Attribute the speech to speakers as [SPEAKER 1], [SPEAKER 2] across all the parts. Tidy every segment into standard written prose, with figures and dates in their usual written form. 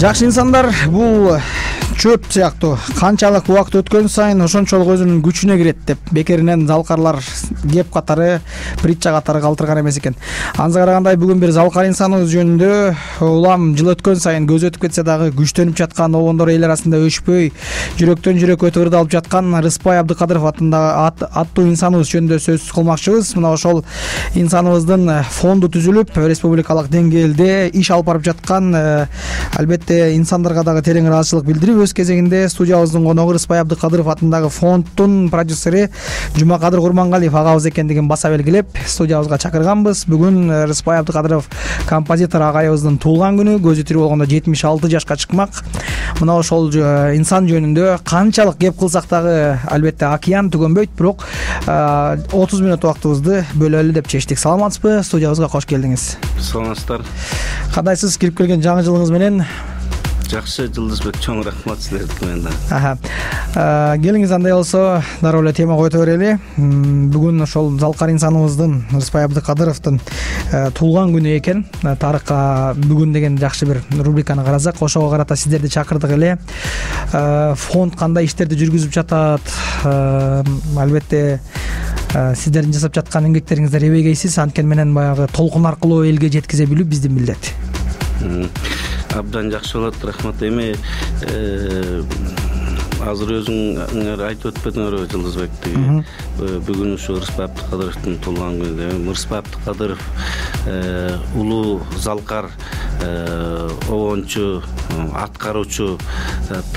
[SPEAKER 1] Жакшы инсандар бул чөп сыяктуу канчалык убакыт өткөн сайын ошончолук өзүнүн күчүнө кирет деп бекеринен залкарлар кеп катары, притча катары калтырган эмес экен. Анысы карагандай бүгүн бир залкар инсаныбыз жөнүндө улам жыл өткөн сайын көз өтүп кетсе дагы күчтөнүп жаткан обондор эл арасында өчпөй жүрөктөн жүрөккө ырдалып жаткан Рыспай Абдыкадыров аттуу инсаныбыз жөнүндө сөз кылмакчыбыз. Мына ошол инсаныбыздын фонду түзүлүп, республикалык деңгээлде иш алып барып жаткан, албетте инсандарга дагы терең ыраазычылык билдирип, өз кезегинде студиябыздын коногу Рыспай Абдыкадыров атындагы фонддун продюсери Жумакадыр Курмангалиев агабыз экендигин баса белгилеп, студиябызга чакырганбыз. Бүгүн Рыспай Абдыкадыров композитор агайыбыздын туулган күнү, көзү тирүү болгондо 76 жашка чыкмак. Мына ошол инсан жөнүндө канчалык кеп кылсак дагы албетте океан түгөнбөйт, бирок 30 мүнөт убактыбызды бөлөлү деп чечтик. Саламатсызбы? Студиябызга кош келдиңиз.
[SPEAKER 2] Саламатсыздар.
[SPEAKER 1] Кандайсыз кирип келген жаңы жылыңыз менен?
[SPEAKER 2] Жакшы, Жылдызбек, чоң рахмат силерге менен.
[SPEAKER 1] Келиңиз, андай болсо дароо эле тема който берели. Бүгүн ошол залкар инсаныбыздын, Рыспай Абдыкадыровдун туулган күнү экен. Тарыхка бүгүн деген жакшы бир рубриканы карасак, ошого карата сиздерди чакырдык эле. Фонд кандай иштерди жүргүзүп жатат? Албетте сиздердин жасап жаткан эмгектериңиздер эбегейсиз, анткени менен баягы толкун аркылуу элге жеткизе билүү биздин милдет.
[SPEAKER 2] Абдан жакшы болот, рахмат. Эми азыр өзүңөр айтып өтпөдүңөрбү, Жылдызбек? Бүгүн ушу Рыспай Абдыкадыровдун туулган күнү. Рыспай Абдыкадыров улуу залкар, обончу, аткаруучу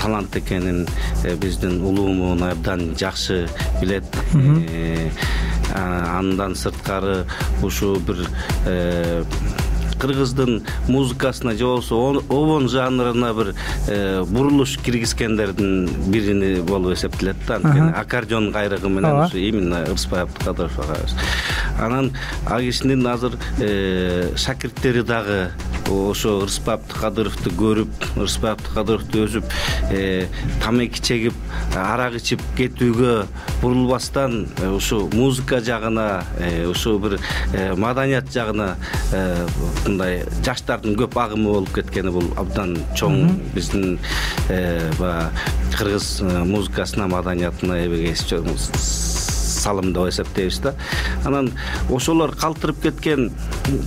[SPEAKER 2] талант экенин биздин улуумун абдан жакшы билет. Андан сырткары ушу бир кыргыздын музыкасына же болбосо обон жанрына бир бурулуш киргизгендердин бирини болуп эсептелет да. Анткени аккордеон кайрыгы менен ушу именно Рыспай Абдыкадыров агабыз. Анан ал кишинин азыр шакирттери дагы ошо Рыспай Абдыкадыровду көрүп, Рыспай Абдыкадыровду өзүп, тамеки чегип, арак ичип кетүүгө бурулбастан ушу музыка жагына, ушу бир маданият жагына мындай жаштардын көп агымы болуп кеткени бул абдан чоң биздин кыргыз музыкасына, маданиятына эбегейсиз салым деп эсептейбиз да. Анан ошолор калтырып кеткен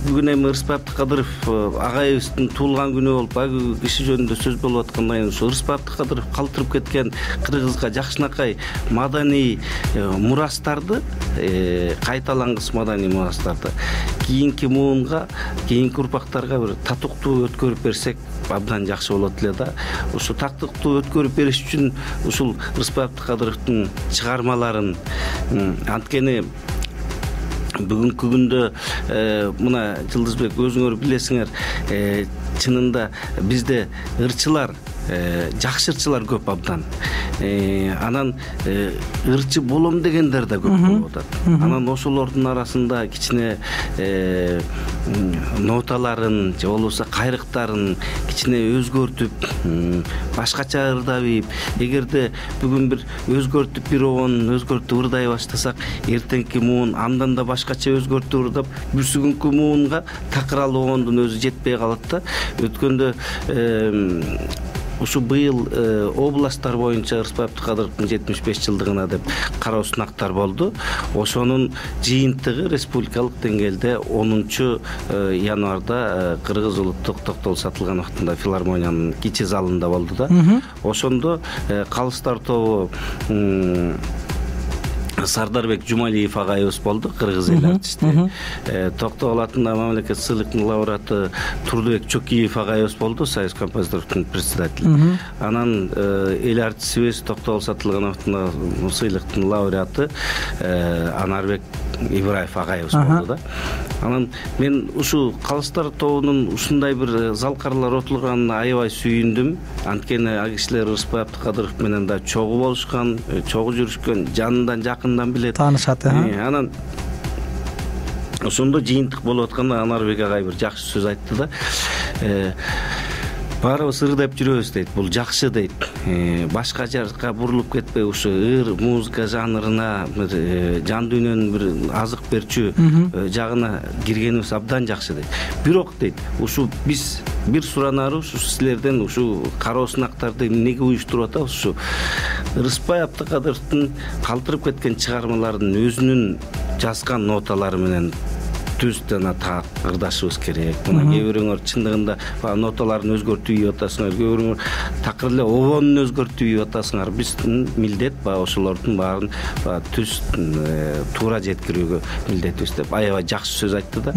[SPEAKER 2] бүгүн эми Рыспай Абдыкадыров агайыбыздын туулган күнү болуп, ал киши жөнүндө сөз болуп аткандан кийин ошо Рыспай Абдыкадыров калтырып кеткен кыргызга жакшынакай маданий мурастарды, кайталангыс маданий мурастарды кийинки муунга, кийинки урпактарга бир татыктуу өткөрүп берсек абдан жакшы болот эле да. Ушу татыктуу өткөрүп бериш үчүн ушул Рыспай Абдыкадыровдун чыгармаларын, анткени бүгүнкү күндө мына Жылдызбек, өзүңөр билесиңер, чынында бизде ырчылар, жакшы ырчылар көп абдан. Анан ырчы болом дегендер да көп болуп атат. Анан ошолордун арасында кичине ноталарын же болбосо кайрыктарын кичине өзгөртүп, башкача ырдап ийип, эгерде бүгүн бир өзгөртүп, бир обонун өзгөртүп ырдай баштасак, эртеңки муун андан да башкача өзгөртүп ырдап, бүрсүгүнкү муунга такырал обондун өзү жетпей калат да. Өткөндө ушу быйыл областтар боюнча Рыспай Абдыкадыровдун 75 жылдыгына деп кароо сынактар болду. Ошонун жыйынтыгы республикалык деңгээлде 10 январда Кыргыз улуттук токтол сатылган убактында филармониянын кичи залында болду да. Ошондо калыстар тобу Сардарбек Жумалиев агайыбыз болду, кыргыз эл артисти. Токтогул атындагы мамлекеттик сыйлыктын лауреаты Турдубек Чокиев агайыбыз болду, Союз композиторлордун председатели. Анан эл артисибиз Токтогул сатылган убактында сыйлыктын лауреаты Анарбек Ибраев агайыбыз болду да. Анан мен ушу калыстар тобунун ушундай бир залкарлар отурганына аябай сүйүндүм. Анткени ал кишилер Рыспай Абдыкадыров менен да чогуу болушкан, чогуу жүрүшкөн, жанынан жакындан билет,
[SPEAKER 1] таанышат.
[SPEAKER 2] Анан ошондо жыйынтык болуп атканда Анарбек агай бир жакшы сөз айтты да. баарыбыз ырдап жүрөбүз дейт, бул жакшы дейт. Башка жакка бурулуп кетпей ушу ыр музыка жанрына жан дүйнөнүн бир азык берчү жагына киргенибиз абдан жакшы дейт. Бирок дейт, ушу биз бир суранарыбыз ушу силерден ушу кароо сынактарды эмнеге уюштуруп атабыз? Ушу Рыспай Абдыкадыровдун калтырып кеткен чыгармаларынын өзүнүн жазган ноталары менен түз жана так ырдашыбыз керек. Мына кээ бирөөңөр чындыгында ноталарын өзгөртүп ийип атасыңар, кээ бирөөңөр такыр эле обонун өзгөртүп ийип атасыңар. Биздин милдет ошолордун баарын түз туура жеткирүүгө милдетибиз деп аябай жакшы сөз айтты да.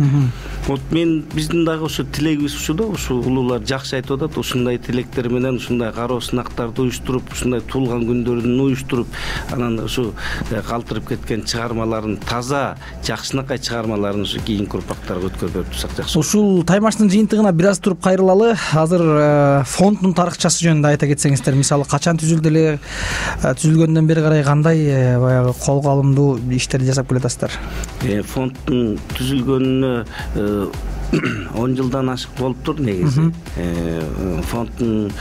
[SPEAKER 2] Вот биздин дагы ушу тилегибиз ушу да, ушу улуулар жакшы айтып атат. Ушундай тилектер менен ушундай кароо сынактарды уюштуруп, ушундай туулган күндөрүн уюштуруп, анан ушу калтырып кеткен чыгармаларын таза, жакшынакай чыгармаларын ушу кийинки урпактарга өткөрүп турсак жакшы.
[SPEAKER 1] Ушул таймаштын жыйынтыгына бир аз туруп кайрылалы. Азыр фонддун тарыхчасы жөнүндө айта кетсеңиздер, мисалы качан түзүлдү эле, түзүлгөндөн бери карай кандай баягы колго алымдуу иштерди жасап келатасыздар?
[SPEAKER 2] Фонддун түзүлгөнүнө 10 жылдан ашык болуптур негизи. Фонддун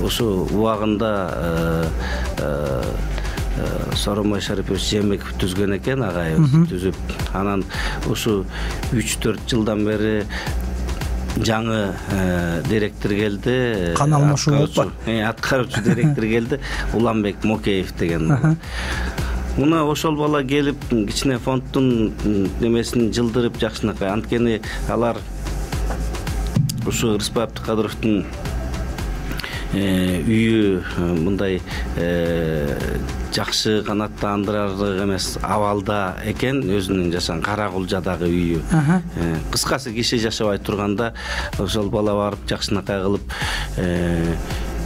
[SPEAKER 2] ошо убагында Сооронбай Шарипович Жээнбеков түзгөн экен, агайыбыз түзүп. Анан ушу 3-4 жылдан бери жаңы директор келди.
[SPEAKER 1] Кан алмашуу болуппу?
[SPEAKER 2] Аткаруучу директор келди, Уланбек Мокеев деген. Мына ошол бала келип кичине фонддун немесин жылдырып жакшынакай. Анткени алар ушу Рыспай Абдыкадыровдун үйү мындай жакшы канааттандырарлык эмес абалда экен, өзүнүн жашаган Кара Кулжадагы үйү. Кыскасы киши жашабай турганда ошол бала барып жакшынакай кылып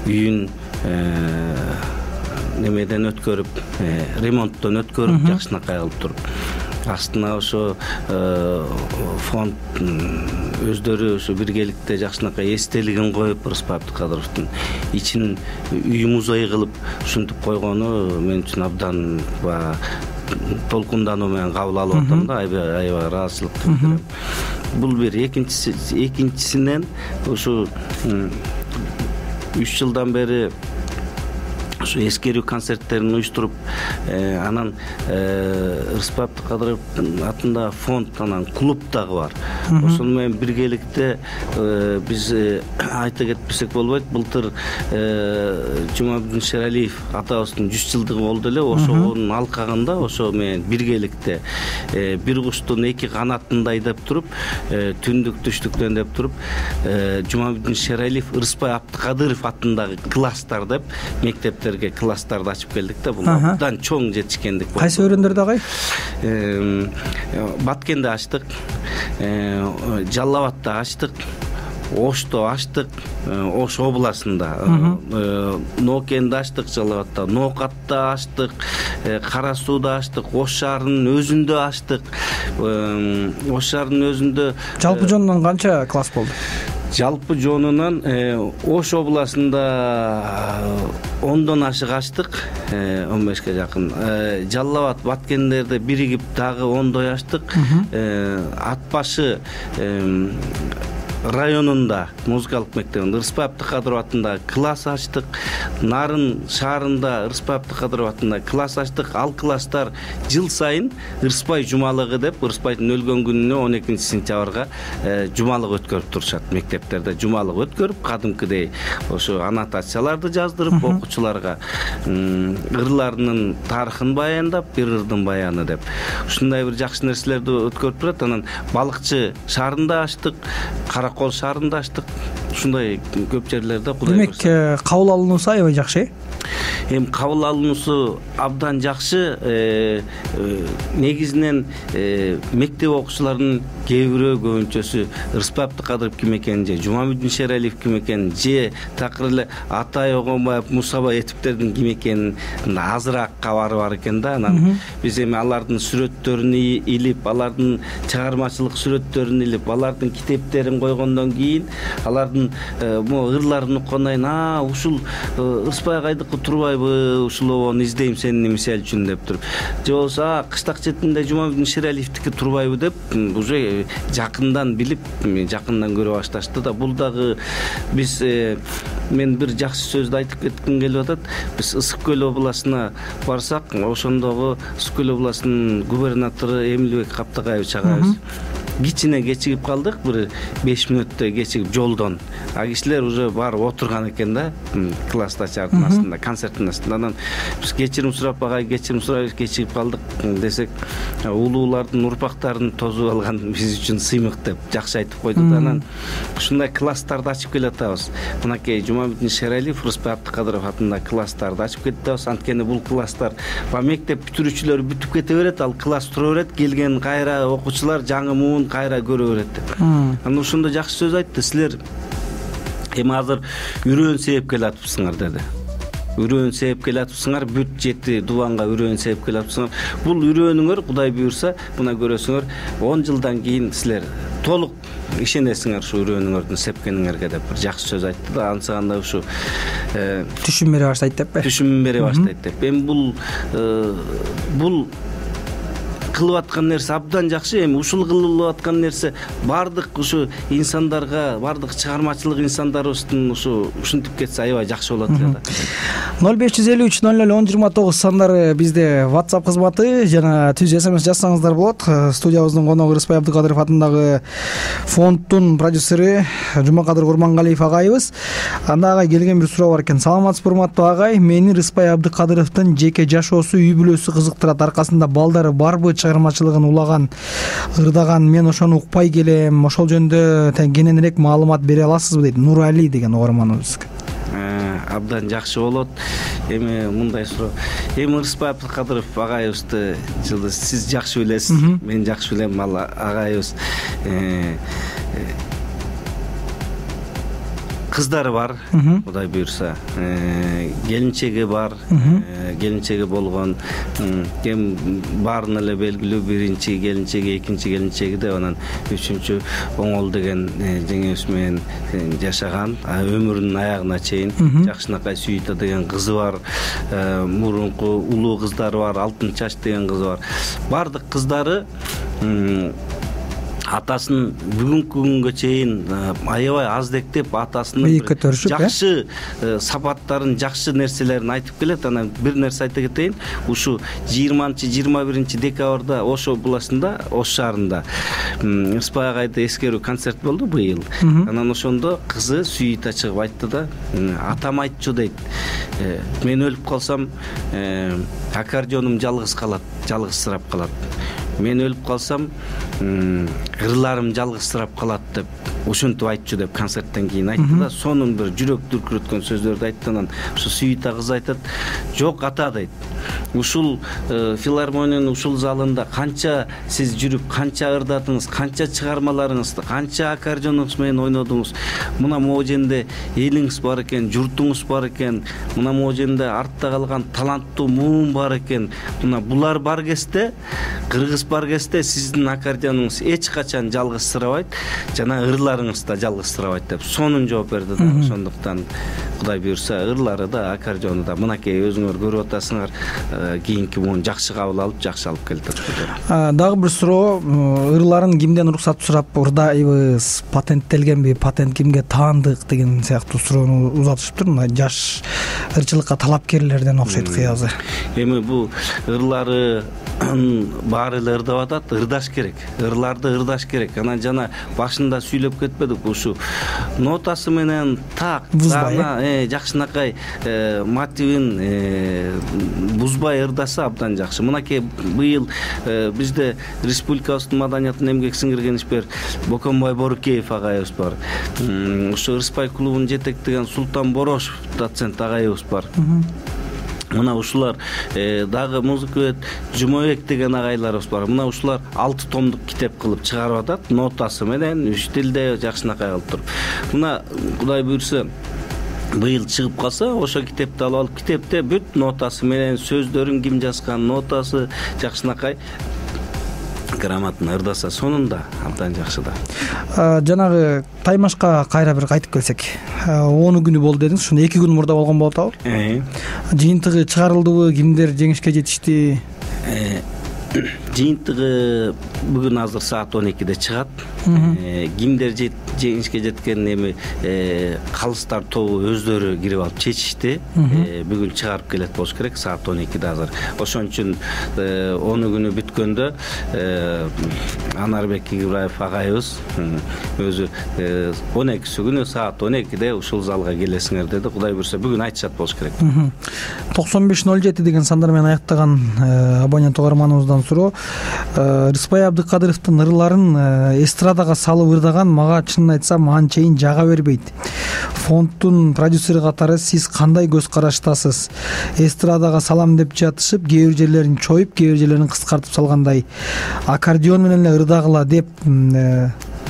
[SPEAKER 2] үйүн немеден өткөрүп, ремонттон өткөрүп жакшынакай кылып туруп. Астына ошо фонд өздөрү ошо биргеликте жакшынакай эстелигин коюп, Рыспай Абдыкадыровдун ичин үй музей кылып ушинтип койгону мен үчүн абдан толкундануу менен кабыл алып атам да, аябай ыраазычылык билдирем. Бул бир. Экинчисинен ушу 3 жылдан бери ушу эскерүү концерттерин уюштуруп, анан Рыспай Абдыкадыровдун атында фонд, анан клуб дагы бар. Ошону менен биргеликте биз айта кетпесек болбойт. Былтыр Жумабүдүн Шералиев атабыздын 100 жылдыгы болду эле. Ошонун алкагында ошо менен биргеликте бир куштун 2 канатындай деп туруп, түндүк түштүктөн деп туруп, Жумабүдүн Шералиев Рыспай Абдыкадыров атындагы класстар деп мектептерге класстарды ачып келдик да. Бул абдан чоң жетишкендик болду.
[SPEAKER 1] Кайсы өрөөндөрдө агай?
[SPEAKER 2] Баткенде ачтык, Жалал Абадта ачтык, Ошто ачтык, Ош областында, Ноокенде ачтык, Жалал Абадта, Ноокатта ачтык, Кара Сууда ачтык, Ош шаарынын өзүндө ачтык. Ош шаарынын өзүндө
[SPEAKER 1] жалпы жонунан канча класс болду?
[SPEAKER 2] Жалпы жонунан Ош областында 10дон ашык ачтык, 15ке жакын. Жалал Абад, Баткендерде биригип дагы 10дой ачтык. Ат башы районунда музыкалык мектебинде Рыспай Абдыкадыров атындагы класс ачтык. Нарын шаарында Рыспай Абдыкадыров атындагы класс ачтык. Ал класстар жыл сайын Рыспай жумалыгы деп, Рыспайдын өлгөн күнүнө 12-сентябрга жумалык өткөрүп турушат. Мектептерде жумалык өткөрүп, кадимкидей ошо аннотацияларды жаздырып, окуучуларга ырларынын тарыхын баяндап, бир ырдын баяны деп ушундай бир жакшы нерселерди өткөрүп турат. Анан балыкчы шаарында ачтык, Каракол шаарында ачтык. Ушундай көп жерлерде Кудай
[SPEAKER 1] демек кабыл алынуусу аябай жакшы.
[SPEAKER 2] Эми кабыл алынуусу абдан жакшы. Негизинен мектеп окуучуларынын кээ бирөө көбүнчөсү Рыспай Абдыкадыров ким экенин, же Жумабүдүн Шералиев ким экенин, же такыр эле Атай Огонбаев, Мусабай Этиптердин ким экенин азыраак кабары бар экен да. Анан биз эми алардын сүрөттөрүн илип, алардын чыгармачылык сүрөттөрүн илип, алардын китептерин койгондон кийин алардын ырларын уккандан кийин ушул Рыспай агайдыкы турбайбы, турбайбы ушулобон издейм сени мисалы үчүн деп туруп, же болбосо Кыштак четинде Жумабек Шералиевдики турбайбы деп уже жакындан билип, жакындан көрө башташты да. Бул дагы биз мен бир жакшы сөздү айтып кетким келип атат. Биз Ысык көл областына барсак, ошондогу Ысык көл областынын губернатору Эмилбек Каптагаевич агайыбыз кичине кечигип калдык, бир 5 мүнөттөй кечигип жолдон. Кишилер уже барып отурган экен да, класста чардын астында, концерттин астында. Анан биз кечирим сурап, кечирим сурап кечигип калдык десек, улуулардын урпактарын тосуп алган биз үчүн сыймык деп жакшы айтып койду да. Анан ушундай класстарды ачып келатабыз. Мынакей Жумабек Шералиев, Рыспай Абдыкадыров атындагы класстарды ачып кетебиз. Анткени бул класстар мектеп бүтүрүүчүлөр бүтүп кете берет, ал класс тура берет, келген кайра окуучулар жаңы муун кайра көрө берет деп. Анан ошондо жакшы сөз айтты. Силер эми азыр үрөөн сээп келатыпсыңар деди. Үрөөн сээп келатыпсыңар, бүт 7 дубанга үрөөн сээп келатыпсыңар. Бул үрөөнүңөр Кудай буйрса, мына көрөсүңөр 10 жылдан кийин силер толук ишенесиңер ушу үрөөнүңөрдүн сепкениңерге деп бир жакшы сөз айтты да. Ансаганда ушу
[SPEAKER 1] түшүн бере баштайт деппи? Түшүн
[SPEAKER 2] бере баштайт деп. Эми бул кылып аткан нерсе абдан жакшы. Эми ушул кылып аткан нерсе бардык ушу инсандарга, бардык чыгармачылык инсандарыбыздын ушинтип кетсе аябай жакшы болот да.
[SPEAKER 1] 0553 00 1029 сандары бизде WhatsApp кызматы, жана түз SMS жазсаңыздар болот. Студиябыздын коногу Рыспай Абдыкадыров атындагы фонддун продюсери Жумакадыр Курмангалиев агайыбыз. Анда агай келген бир суроо бар экен. Саламатсызбы урматтуу агай, мени Рыспай Абдыкадыровдун жеке жашоосу, үй бүлөсү кызыктырат. Аркасында балдары барбы, чыгармачылыгын улаган, ырдаган, мен ошону укпай келем. Ошол жөнүндө кененирээк маалымат бере аласызбы дейт Нурали деген угарманыбыз.
[SPEAKER 2] Абдан жакшы болот. Эми мындай суроо. Эми Рыспай Абдыкадыров агайыбызды сиз жакшы билесиз, мен жакшы билем. Ал агайыбыз кыздары бар, Кудай буйрса, келинчеги бар, келинчеги болгон, кем баарына эле белгилүү биринчи келинчеги, экинчи келинчеги деп, анан үчүнчү Оңол деген жеңебиз менен жашаган, өмүрүнүн аягына чейин. Жакшынакай Сүйүта деген кызы бар, мурунку улуу кыздары бар, Алтын Чач деген кызы бар. Бардык кыздары атасын бүгүнкү күнгө чейин аябай аздектеп, атасынын жакшы сапаттарын, жакшы нерселерин айтып келет. Анан бир нерсе айта кетейин. Ушу 20-21 декабрда Ош областында, Ош шаарында Рыспай агайды эскерүү концерт болду быйыл. Анан ошондо кызы Сүйүта чыгып айтты да, атам айтчу дейт, мен өлүп калсам аккордеоном жалгыз калат, жалгызсырап калат. Мен өлүп калсам ырларым жалгызсырап калат деп ошентип айтчу деп концерттен кийин айтты да. Сонун бир жүрөк дүркүрөткөн сөздөрдү айтты. Анан ушу Сүйүта кыз айтат, жок ата дейт, ушул филармониянын ушул залында канча сиз жүрүп, канча ырдадыңыз, канча чыгармаларыңызды, канча аккордеоnuңуз менен ойнодуңуз. Мына могу жерде элиңиз бар экен, журтуңуз бар экен, мына могу жерде артта калган таланттуу муун бар экен. Мына булар бар кезде, кыргыз бар кезде сиздин аккордеонуңуз эч качан жалгызсырабайт, жана ырларыңыз да жалгызсырабайт деп сонун жооп берди да. Ошондуктан Кудай буйрса ырлары да, аккордеону да мынакей өзүңөр көрүп атасыңар, кийинки муун жакшы кабыл алып, жакшы алып келет.
[SPEAKER 1] Дагы бир суроо, ырларын кимден уруксат сурап ырдайбыз, патенттелгенби, патент кимге таандык деген сыяктуу суроону узатышыптыр. Мына жаш ырчылыкка талапкерлерден окшойт кыязы.
[SPEAKER 2] Эми бул ырлары баары эле ырдап атат, ырдаш керек. Ырларды ырдаш керек. Анан жана башында сүйлөп кетпедик, ушу нотасы менен так, жакшынакай мотивин бузбай ырдаса абдан жакшы. Мынакей быйыл бизде республикабыздын маданиятына эмгек сиңирген ишмер Боконбай Борукеев агайыбыз бар. Ушу Рыспай клубун жетектеген Султан Борошев доцент агайыбыз бар. Мына ушулар дагы музыка Жумабек деген агайларыбыз бар. Мына ушулар 6 томдук китеп кылып чыгарып атат, нотасы менен 3 тилде жакшынакай кылып туруп. Мына Кудай буйрса быйыл чыгып калса, ошо китепти алып алып, китепте бүт нотасы менен сөздөрүн ким жазган, нотасы жакшынакай грамотно ырдаса сонун да абдан жакшы да.
[SPEAKER 1] Жанагы Таймашка кайра бир кайтып келсек, 10 күнү болду дедиңиз. Ушуну 2 күн мурда болгон болуп атабы? Жыйынтыгы чыгарылдыбы? Кимдер жеңишке жетишти?
[SPEAKER 2] Жыйынтыгы бүгүн азыр саат 12-де чыгат. Кимдер жеңишке жеткен эми калыстар тобу өздөрү кирип алып чечишти. Бүгүн чыгарып келет болуш керек саат 12-де азыр. Ошон үчүн 10 күнү бүткөндө Анарбек Игибраев агайыбыз өзү 12 күнү саат 12-де ушул залга келесиңер деди. Кудай буйрса бүгүн айтышат болуш керек.
[SPEAKER 1] 9507 деген сандар менен аяктаган абонент угарманыбыздан суроо. Рыспай Абдыкадыровдун ырларын эстрадага салып ырдаган мага чынын айтсам анчейин жага бербейт. Фонддун продюсери катары сиз кандай көз караштасыз? Эстрадага салам деп жатышып, кээ бир жерлерин чоюп, кээ бир жерлерин кыскартып салгандай. Аккордеон менен эле ырдагыла деп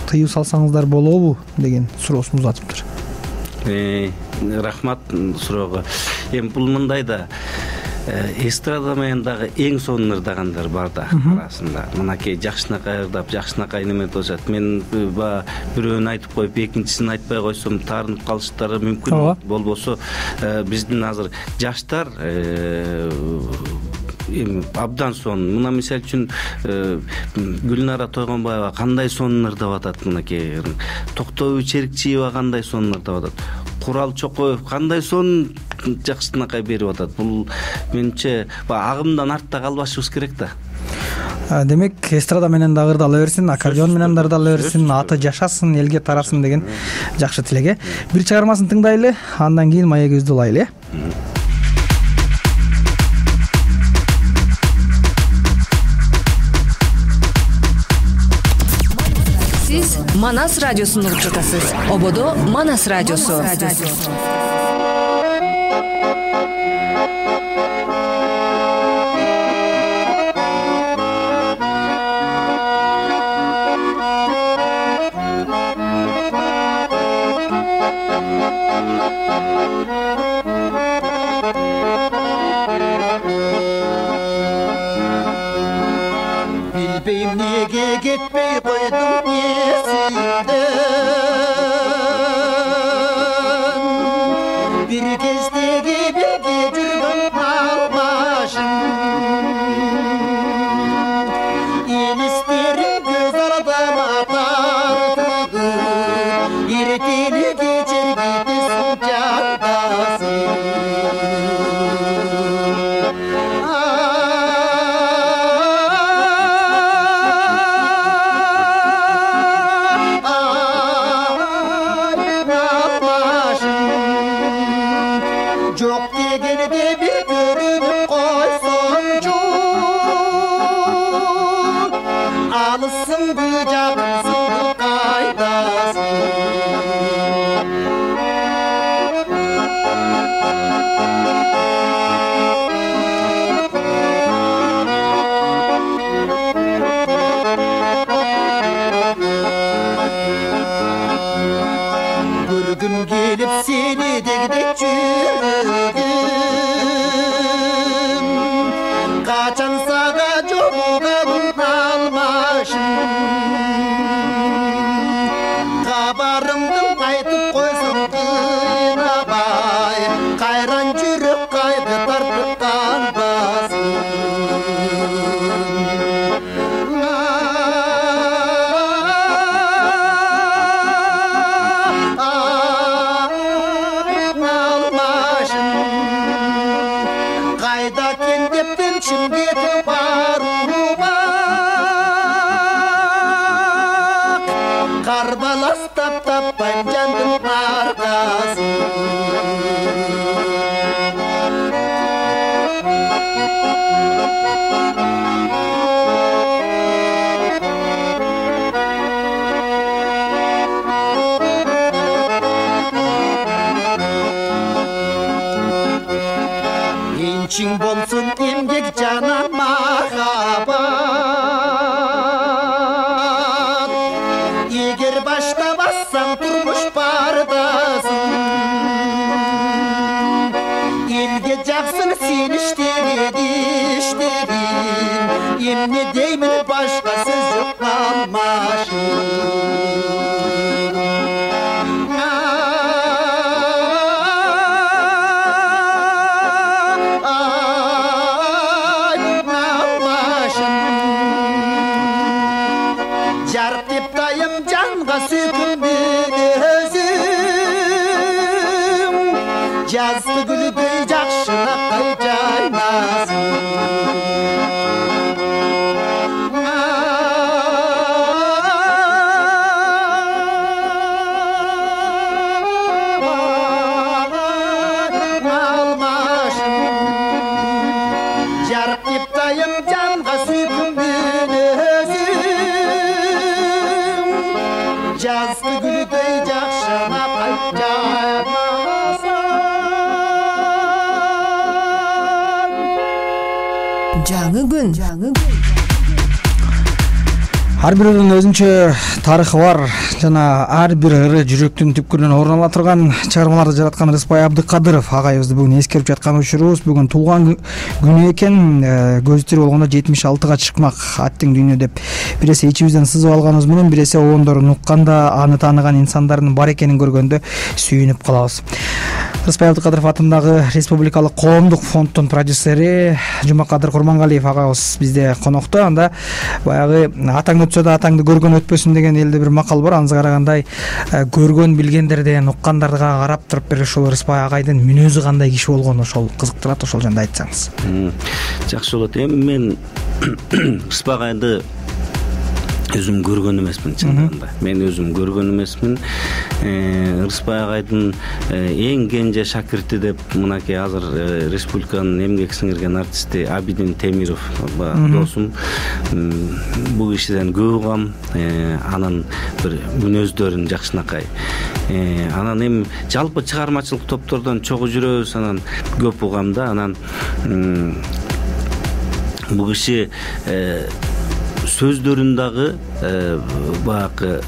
[SPEAKER 1] тыюу салсаңыздар болобу деген суроосун узатыптыр.
[SPEAKER 2] Рахмат суроого. Эми бул мындай да эстрада менен дагы эң сонун ырдагандар бар да арасында. Мынакей жакшынакай ырдап, жакшынакай неме болушат. Мен бирөөнү айтып коюп, экинчисин айтпай койсом таарынып калыштары мүмкүн. Болбосо биздин азыр жаштар абдан сонун. Мына мисалы үчүн Гүлнара Тойгонбаева кандай сонун ырдап атат. Мынакей Токтобой Черикчиева кандай сонун ырдап атат. Курал Чокоев кандай сонун жакшынакай берип атат. Бул менимче агымдан артта калбашыбыз керек да.
[SPEAKER 1] Демек, эстрада менен да ырдала берсин, аккордеон менен да ырдала берсин, аты жашасын, элге тарасын деген жакшы тилек. Бир чыгармасын тыңдайлы, андан кийин маегибизди улайлы.
[SPEAKER 3] Сиз Манас радиосун угуп жатасыз. Ободо Манас радиосу.
[SPEAKER 4] Bilbeyim nege gitmey koydum esimden. Bir kezdegi birge жүргөн almaşım. Elislerim göz ardama tartıdı. Erteli geçer gidesin candasın. Çok degende bir görünüp koysoncu, alısın bıcaksın kaydasın. Bir gün gelip seni degdek çürüdüm. Kaçan sağa jomuğabın almaşım. Kabarımdın aytıp koysam kınabay. Kayran çürük kaydı tartıp kalmasın. Kayda kendiptin şimdi baruru bak. Karbalas tap tap panjandın arkası. İnçin bolsun emgek cana mahabat. Eğer başta bassan turmuş bardasın. Elge jaksın sen işlerin. Emne deymin başka söz жарык деп дайым жанга сүйкүмдүн өзүң жазды гүлдөй жакшынакай жайнасын
[SPEAKER 3] жаңы күн.
[SPEAKER 1] Ар биринин өзүнчө тарыхы бар жана ар бир ыры жүрөктүн түпкүрүнөн орун ала турган чыгармаларды жараткан Рыспай Абдыкадыров агайыбызды бүгүн эскерип жаткан учурубуз. Бүгүн туулган күнү экен. Көзү тирүү болгондо 76-га чыкмак аттың дүйнө деп бир эсе ичибизден сызып алганыбыз менен бир эсе обондорун укканда аны тааныган инсандардын бар экенин көргөндө сүйүнүп калабыз. Рыспай Абдыкадыров атындагы Республикалык коомдук фонддун продюсери Жумакадыр Курмангалиев агабыз бизде конокто. Анда баягы атаң өтсө да атаңды көргөн өтпөсүн деген элде бир макал бар. Анысы карагандай көргөн билгендерден уккандарга карап туруп бир ушул Рыспай агайдын мүнөзү кандай киши болгону ошол кызыктырат. Ошол жөнүндө айтсаңыз.
[SPEAKER 2] Жакшы болот. Эми мен Рыспай агайды өзүм көргөн эмесмин чындыгында. Мен өзүм көргөн эмесмин. Рыспай агайдын эң кенже шакирти деп мынакей азыр республиканын эмгек сиңирген артисти Абидин Темиров досум. Бул кишиден көп угам, анын бир мүнөздөрүн жакшынакай. Анан эми жалпы чыгармачылык топтордон чогуу жүрөбүз, анан көп угам да. Анан бул киши сөздөрүн дагы баягы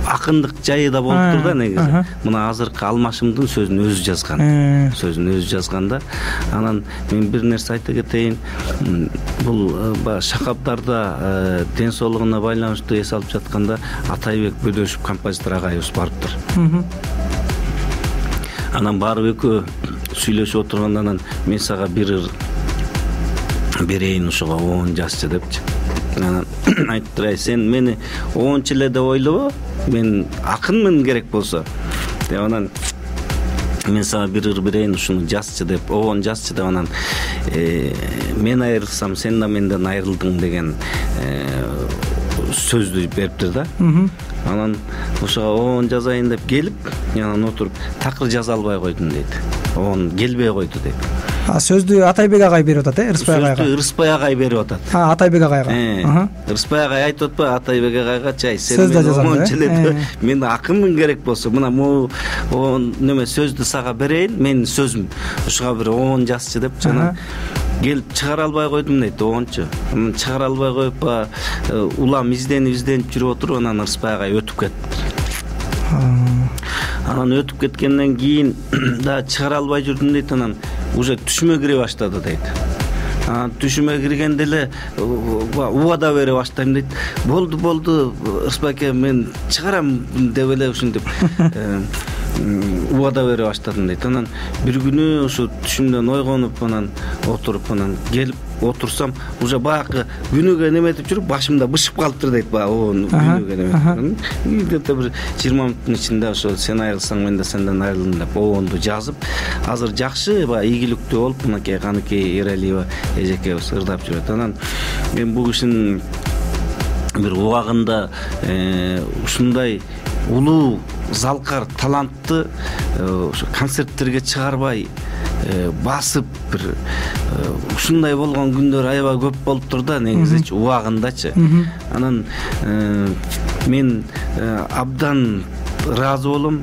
[SPEAKER 2] акындык жайы да болуптур да негизи. Мына азыркы Алмашымдын сөзүн өзү жазган да. Анан мен бир нерсе айта кетейин. Бул Шакабдарда ден соолугуна байланыштуу эс алып жатканда Атайбек Бөдөшев композитор агайыбыз барыптыр. Анан барып экөө сүйлөшүп отурганда анан мен сага бир ыр берейин ушуга 10 жазчы депчи. Анан айттыр, сен мени 10 эле деп ойлобо, мен акынмын керек болсо деп. Анан мен сага бир ыр берейин, ушуну жазчы деп, 10 жазчы деп. Анан мен айрылсам сен да менден айрылдың деген сөздү бериптир да. Анан ошого 10 жазайын деп келип, анан отуруп такыр жаза албай койдум дейт. 10 келбей койду дейт.
[SPEAKER 1] Сөздү Атайбек агай берип атат, Рыспай агайга.
[SPEAKER 2] Сөздү Рыспай агай берип атат.
[SPEAKER 1] Атайбек агайга.
[SPEAKER 2] Рыспай агай айтып атпайбы Атайбек агайга, чай сен мен мен акынмын керек болсо, мына могу неме сөздү сага берейин, менин сөзүм. Ушуга бир 10 жазчы деп жана келип чыгара албай койдум дейт, 10чу. Чыгара албай коюп улам изденип жүрүп отуруп, анан Рыспай агай өтүп кетти. Анан өтүп кеткенден кийин да чыгара албай жүрдүм дейт. Анан уже түшүмө кире баштады дейт. Түшүмө киргенде эле убада бере баштайм дейт. Болду Рыспай аке, мен чыгарам деп эле ушинтип убада бере баштадым дейт. Анан бир күнү ушу түшүмдөн ойгонуп, анан отуруп, анан келип отурсам, уже баягы күнүгө неметип жүрүп башымда бышып калыптыр дейт. Күнүгө неметип. Где-то бир 20 мүнөттүн ичинде ошо сен айрылсаң мен да сенден айрылдым деп обонду жазып, азыр жакшы ийгиликтүү болуп, мынакей Каныкей Эралиева эжекебиз ырдап жүрөт. Анан мен бул кишинин бир убагында ушундай улуу залкар талантты концерттерге чыгарбай басып бир ушундай болгон күндөр аябай көп болуптур да негизичи убагындачы. Анан мен абдан ыраазы болом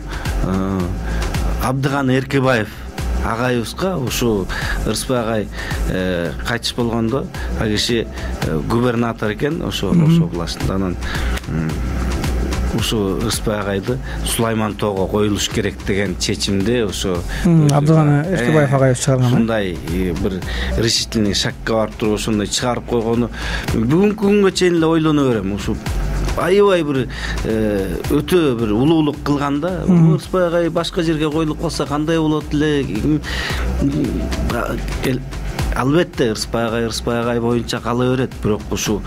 [SPEAKER 2] Абдыган Эркебаев агайыбызга. Ушу Рыспай агай кайтыш болгондо ал киши губернатор экен ошо областында. Анан ушу Рыспай агайды Сулайман тоого коюлуш керек деген чечимди ошо
[SPEAKER 1] Абдыган Эркебаев агайыбыз чыгарган.
[SPEAKER 2] Ушундай бир решительный шагга барып туруп ошондой чыгарып койгону бүгүнкү күнгө чейин эле ойлоно берем. Ушу аябай бир өтө бир улуулук кылган да. Рыспай агай башка жерге коюлуп калса кандай болот эле? Албетте Рыспай агай боюнча кала берет, бирок ушу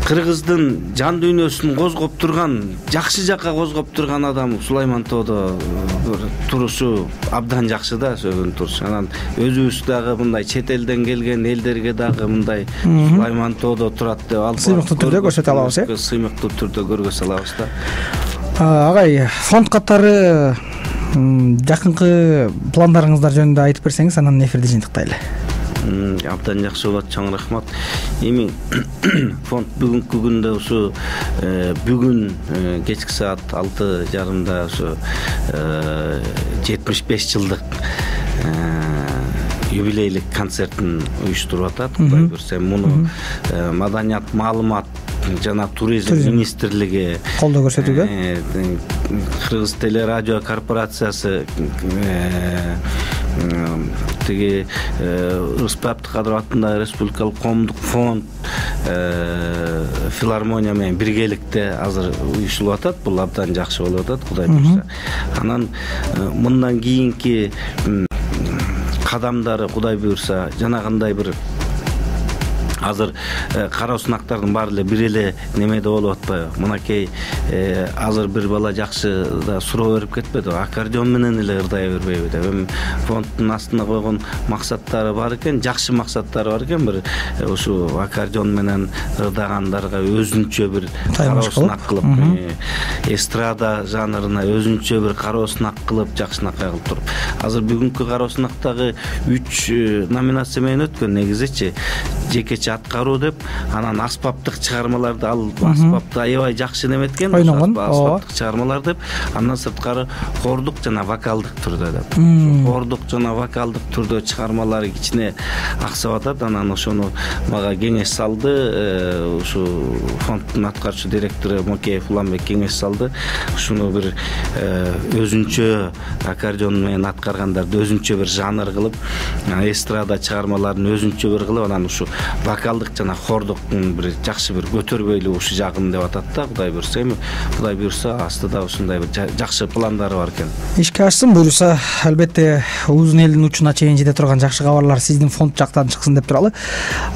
[SPEAKER 2] кыргыздын жан дүйнөсүн козгоп турган, жакшы жакка козгоп турган адам Сулаймантоодо турушу абдан жакшы да, сөөгөн туруш. Анан өзүбүз дагы мындай чет элден келген элдерге дагы мындай Сулаймантоодо турат деп алып
[SPEAKER 1] сыймыктуу түрдө көрсөтө алабыз,
[SPEAKER 2] сыймыктуу түрдө көргөзө алабыз да.
[SPEAKER 1] Агай, фонд катары жакынкы пландарыңыздар жөнүндө айтып берсеңиз, анан эфирди жыйынтыктайлы.
[SPEAKER 2] Абдан жакшы болот, чоң рахмат. Эми фонд бүгүнкү күндө ушу бүгүн кечки саат 6:30 ушу 75 жылдык юбилейлик концертин уюштуруп атат. Кудай буйрса, муну Маданият, маалымат жана туризм министрлиги
[SPEAKER 1] колдоо көрсөтүүдө,
[SPEAKER 2] Кыргыз телерадио корпорациясы, тиги Рыспай Абдыкадыров атындагы республикалык коомдук фонд, филармония менен биргеликте азыр уюштурулуп атат. Бул абдан жакшы болуп атат, Кудай буйрса. Анан мындан кийинки кадамдары, Кудай буйрса, жанагындай бир азыр кароо сынактардын баары эле бир эле немеде болуп атпайбы? Мынакей азыр бир бала жакшы да суроо берип кетпеди, аккордеон менен эле ырдая бербейби деп. Эми фонддун астына койгон максаттары бар экен, жакшы максаттары бар экен. Бир ушу аккордеон менен ырдагандарга өзүнчө бир кароо сынак кылып, эстрада жанрына өзүнчө бир кароо сынак кылып, жакшынакай кылып туруп. Азыр бүгүнкү кароо сынактагы 3 номинация менен өткөн негизичи. Жекече аткаруу деп, анан аспаптык чыгармаларды, ал аспапты аябай жакшы неметкен, аспаптык чыгармалар деп, андан сырткары хордук жана вокалдык түрдө деп. Хордук жана вокалдык түрдө чыгармалары кичине аксап атат. Анан ошону мага кеңеш салды, ушу фонддун аткаруучу директору Мокеев Уланбек кеңеш салды. Ушуну бир өзүнчө аккордеон менен аткаргандарды өзүнчө бир жанр кылып, эстрада чыгармаларын өзүнчө бир кылып, анан ушу вокалдык жана хордуктун бир жакшы бир көтөрбөйлүк ушу жагын деп атат да. Кудай буйрса, эми Кудай буйрса астыда ушундай бир жакшы пландары бар экен.
[SPEAKER 1] Ишке ашсын, буйрса, албетте узун элдин учуна чейин жете турган жакшы кабарлар сиздин фонд жактан чыксын деп туралы.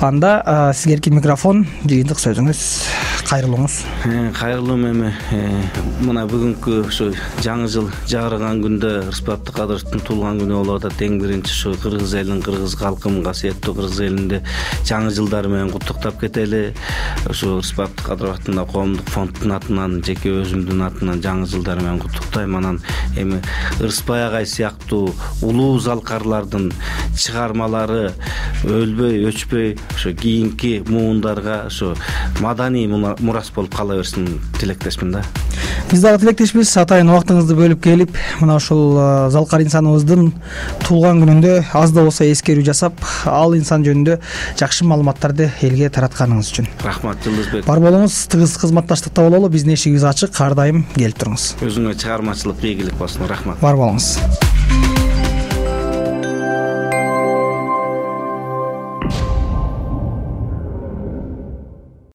[SPEAKER 1] Анда сизге эркин микрофон, жыйынтык сөзүңүз, кайрылуңуз.
[SPEAKER 2] Кайрылуу эми мына бүгүнкү ушу жаңы жыл жагырган күндө Рыспай Абдыкадыровдун туулган күнү болуп атат. Эң биринчи ушу кыргыз элин, кыргыз калкын, касиеттүү кыргыз элинде жаңы жылдары менен куттуктап кетели. Ушу Рыспай Абдыкадыров атындагы коомдук фонддун атынан, жеке өзүмдүн атынан жаңы жылдары менен куттуктайм. Анан эми Рыспай агай сыяктуу улуу залкарлардын чыгармалары өлбөй, өчпөй, ошо кийинки муундарга ошо маданий мурас болуп кала берсин тилектешмин да.
[SPEAKER 1] Биз дагы тилектешпиз. Атайын убактыңызды бөлүп келип, мына ушул залкар инсаныбыздын туулган күнүндө аз да болсо эскерүү жасап, ал инсан жөнүндө жакшы маалыматтарды элге таратканыңыз үчүн
[SPEAKER 2] рахмат. Жылдызбек,
[SPEAKER 1] бар болуңуз, тыгыз кызматташтыкта бололу. Биздин эшигибиз ачык, ар дайым келип туруңуз.
[SPEAKER 2] Өзүңө чыгармачылык ийгилик болсун. Рахмат.
[SPEAKER 1] Бар болуңуз.